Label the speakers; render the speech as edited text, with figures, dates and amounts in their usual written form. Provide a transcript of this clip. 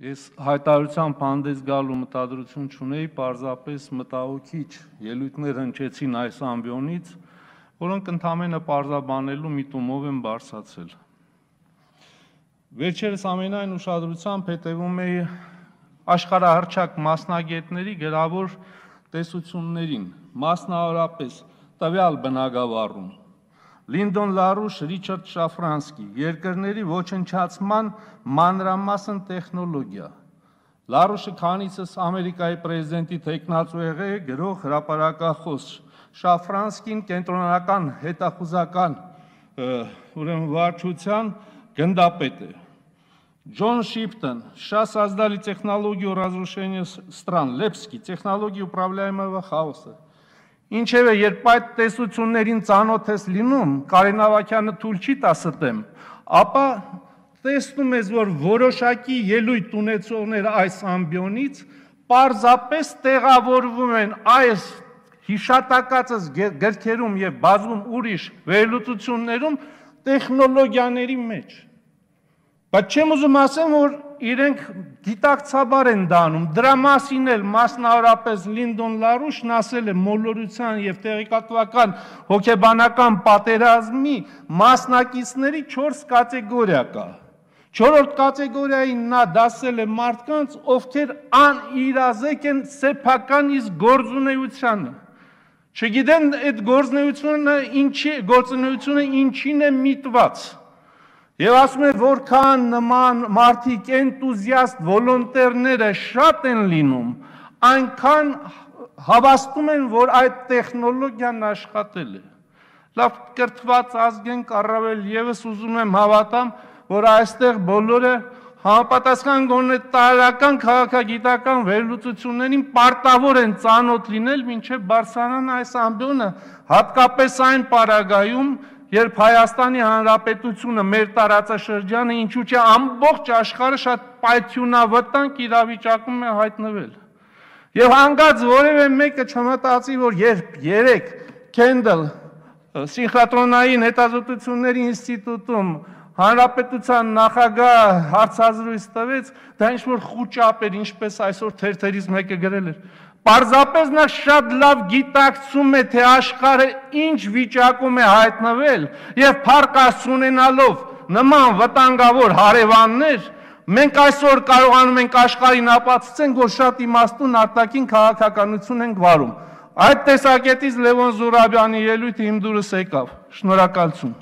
Speaker 1: Ես հայտարարությամբ հանդես գալու մտադրություն չունեի, պարզապես մտահոգիչ ելույթներ հնչեցին այս ամբիոնից, որոնք ընդամենը պարզաբանելու միտումով են բարձրացել։ Վերջերս ամենայն ուշադրությամբ հետևում էի աշխարհահռչակ մասնագետների գրավոր տեսություններին, մասնավորապես տվյալ բնագավառում։ Լինդոն Լարուշ, Ռիչարդ Շաֆրանսկի, երկրների ոչնչացման մանրամասն տեխնոլոգիա։ Լարուշը քանիցս Ամերիկայի պրեզիդենտի թեկնածու եղել է, գրող, հրապարակախոս, Շաֆրանսկին կենտրոնական հետախուզական վարչության գնդապետ է։ Ջոն Շիփտон, США создали технологию разрушения стран, Лепский, технологии управляемого хаоса։ Ինչևէ, երբ այդ տեսություններին ծանոթ ես լինում, Կարեն Ավագյանը թույլ չի տա ստեմ, ապա տեսնում ես, որ որոշակի ելույթ ունեցողները այս ամբիոնից պարզապես տեղավորվում են այս հիշատակածս գրքերում եւ բազում ուրիշ վերլուծություններում տեխնոլոգիաների մեջ։ Բայց չեմ ուզում ասեմ, որ իրենք գիտակցաբար են դանում, դրա մասին էլ մասնավորապես Լինդոն Լարուշն ասել է մոլորության եւ տեղեկատվական հոգեբանական պատերազմի մասնակիցների 4 կատեգորիա կա։ 4-րդ կատեգորիային նա դասել է մարդկանց, ովքեր անիրազեկ են սեփական իսկ գործունեությանը։ Չգիտեն այդ գործունեությունը ինչին է միտված։ Եվ ասում է, որքան նման մարդիկ էնտուզիաստ վոլոնտերները շատ են լինում, այնքան հավաստում են, որ այդ տեխնոլոգիան աշխատել է։ Լավ կրթված ազգ ենք, առավել եւս ուզում եմ հավատամ, որ այստեղ բոլորը համապատասխան գոնե տարրական քաղաքագիտական վերլուծություններին պարտավոր են ծանոթ լինել, մինչև բարձրանան այս ամբիոնը, հատկապես այն պարագայում, երբ Հայաստանի Հանրապետությունը մեր տարածաշրջանը ինչու՞ չէ ամբողջ աշխարհը շատ պայթյունավտանգ իրավիճակում է հայտնվել։ Եվ հանգած որևէ մեկը չմտածի, որ երբ երեք Քենդլ սինխրոտրոնային հետազոտությունների ինստիտուտում Հանրապետության նախագահ հարցազրույց տվեց, դա ինչ-որ խուճապ էր, ինչպես այսօր թերթերից մեկը գրել էր։ Պարզապես նա շատ լավ գիտակցում է, թե աշխարհը ինչ վիճակում է հայտնվել եւ փառք ունենալով նման վտանգավոր հարևաններ, մենք այսօր կարողանում ենք աշխարհին ապացուցենք, որ շատ իմաստուն արտաքին քաղաքականություն ենք վարում։ Այդ տեսակետից Լևոն Զուրաբյանի ելույթը իմ դուրս եկավ։ Շնորհակալություն։